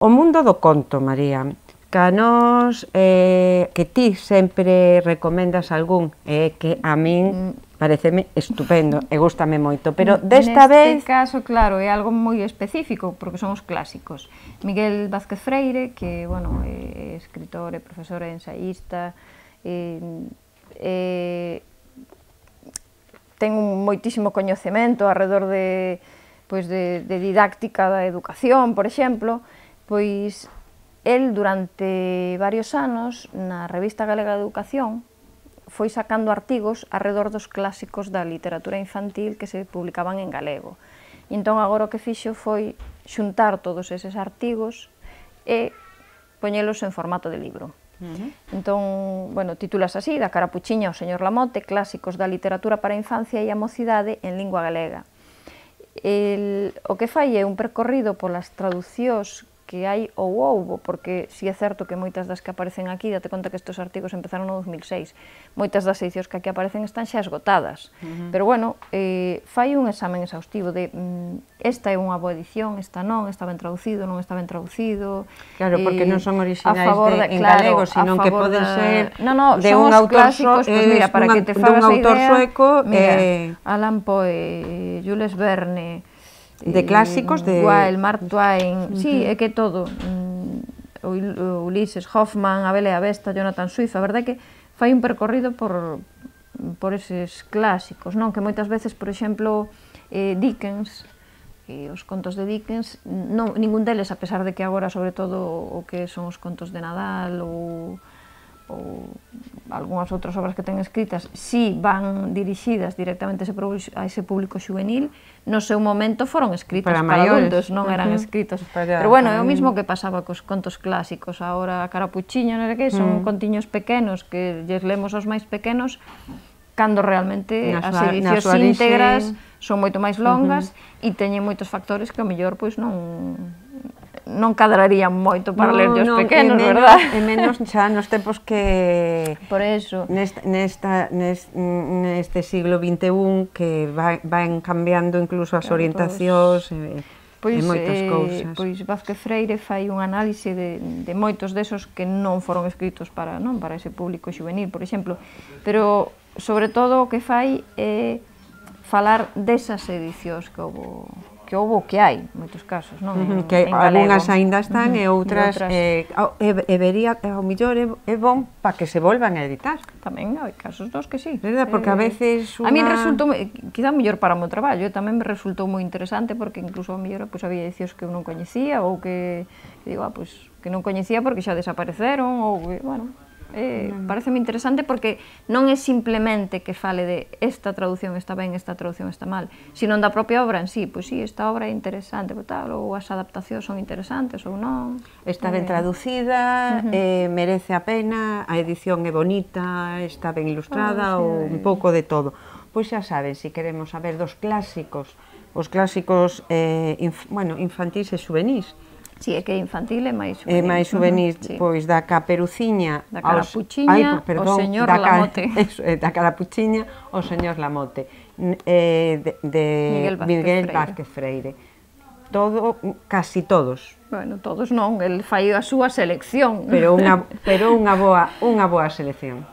O mundo do conto, María, que nos, que ti sempre recomendas algún, que a min pareceme estupendo e gústame moito, pero desta vez... Neste caso, claro, é algo moi específico, porque son os clásicos. Miguel Vázquez Freire, que, bueno, é escritor e profesor e ensaísta, ten un moitísimo coñecemento alrededor de didáctica da educación, por exemplo, pois el durante varios anos na Revista Galega de Educación foi sacando artigos alrededor dos clásicos da literatura infantil que se publicaban en galego. E entón agora o que fixo foi xuntar todos eses artigos e poñelos en formato de libro. Entón, bueno, titulas así, da Carapuchiña ao señor Lamote, clásicos da literatura para a infancia e a mocidade en lingua galega. O que fai é un percorrido polas traducións que hai ou houbo, porque si é certo que moitas das que aparecen aquí, date conta que estes artigos empezaron no 2006, moitas das edicións que aquí aparecen están xa esgotadas, pero bueno, fai un examen exhaustivo de esta é unha boa edición, esta non, está ben traducido, non está ben traducido. Claro, porque non son orixinais en galego, sino que poden ser de un autor sueco, Allan Poe, Jules Verne, de clásicos de... Wilde, Mark Twain, sí, é que todo, Ulises, Hoffman, A Bela e a Besta, Jonathan Swift, a verdade é que fai un percorrido por eses clásicos, non? Que moitas veces, por exemplo, Dickens, os contos de Dickens, ningún deles, a pesar de que agora, sobre todo, o que son os contos de Nadal ou algunhas outras obras que ten escritas, si van dirixidas directamente a ese público xuvenil, no seu momento foron escritos para adultos, non eran escritos. Pero bueno, é o mismo que pasaba cos contos clásicos, agora a Carapuchiña, non sei que, son contiños pequenos que lles lemos aos máis pequenos, cando realmente as edicións íntegras son moito máis longas e teñen moitos factores que ao mellor non cadrarían moito para ler os pequenos, verdad? E menos xa nos tempos que... Por eso. Neste siglo XXI que van cambiando incluso as orientacións e moitas cousas. Pois Vázquez Freire fai un análise de moitos desos que non foron escritos para ese público xuvenil, por exemplo, pero sobre todo o que fai é falar desas edicións que houbo, que hai, en moitos casos, non? Que algunhas aínda están e outras vería, ao mellor é bon para que se volvan a editar. Tamén hai casos dos que sí. Verdad, porque a veces... A min resultou, quizá mellor para o meu traballo, tamén me resultou moi interesante porque incluso ao mellor había edicións que eu non coñecía ou que digo, que non coñecía porque xa desapareceron ou, bueno... Pareceme interesante porque non é simplemente que fale de esta traducción está ben, esta traducción está mal, sino da propia obra en sí, pois sí, esta obra é interesante, ou as adaptacións son interesantes ou non. Está ben traducida, merece a pena, a edición é bonita, está ben ilustrada, ou un pouco de todo. Pois xa saben, se queremos saber dos clásicos, os clásicos infantís e xuvenís, Si, é que é infantil e máis xuvenil. É máis xuvenil, pois da Caperuciña... Da Carapuchiña ao señor Lamote. Da Carapuchiña ao señor Lamote, de Miguel Vázquez Freire. Casi todos. Bueno, todos non, el fai a súa selección. Pero unha boa selección.